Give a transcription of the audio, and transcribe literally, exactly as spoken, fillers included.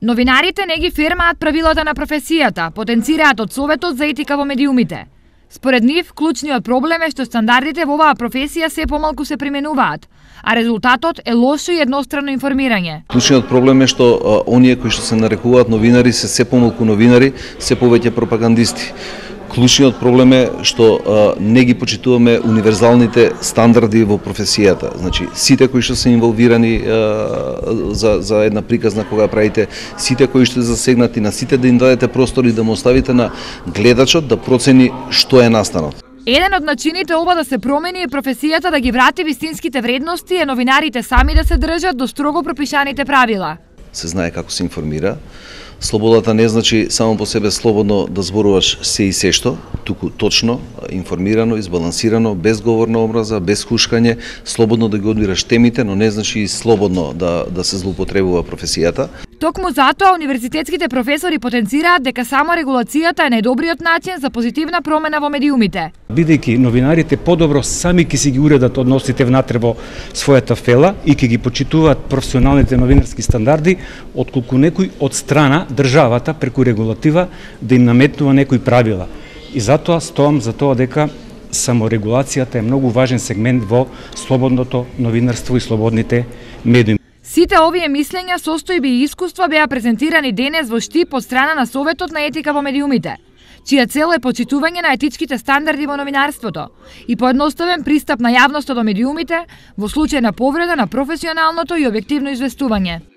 Новинарите не ги фирмаат правилата на професијата, потенцираат од Советот за етика во медиумите. Според нив, клучниот проблем е што стандардите во оваа професија се помалку се применуваат, а резултатот е лошо и едностранно информирање. Клучниот проблем е што а, оние кои што се нарекуваат новинари се се помалку новинари, се повеќе пропагандисти. Клучниот проблем е што а, не ги почитуваме универзалните стандарди во професијата. Значи, сите кои што се инволвирани а, за, за една приказна кога правите, сите кои што се засегнати, на сите да им дадете простори да му оставите на гледачот да процени што е настанал. Еден од начините ова да се промени е професијата да ги врати вистинските вредности е новинарите сами да се држат до строго пропишаните правила. Се знае како се информира. Слободата не значи само по себе слободно да зборуваш се и се што, туку точно, информирано, избалансирано, без говор на омраза, без хушкање, слободно да ги одбираш темите, но не значи и слободно да, да се злоупотребува професијата. Токму затоа универзитетските професори потенцираат дека само регулацијата е најдобриот начин за позитивна промена во медиумите. Бидејќи новинарите подобро сами ќе си ги уредат односите внатре во својата фела и ќе ги почитуваат професионалните новинарски стандарди, отколку некој од страна државата преку регулатива да им наметнува некои правила. И затоа стоам за тоа дека саморегулацијата е многу важен сегмент во слободното новинарство и слободните медиуми. Сите овие мислења, состојби и искуства беа презентирани денес во Штип од страна на Советот на етика во медиумите, чија цел е почитување на етичките стандарди во новинарството и поедноставен пристап на јавноста до медиумите во случај на повреда на професионалното и објективно известување.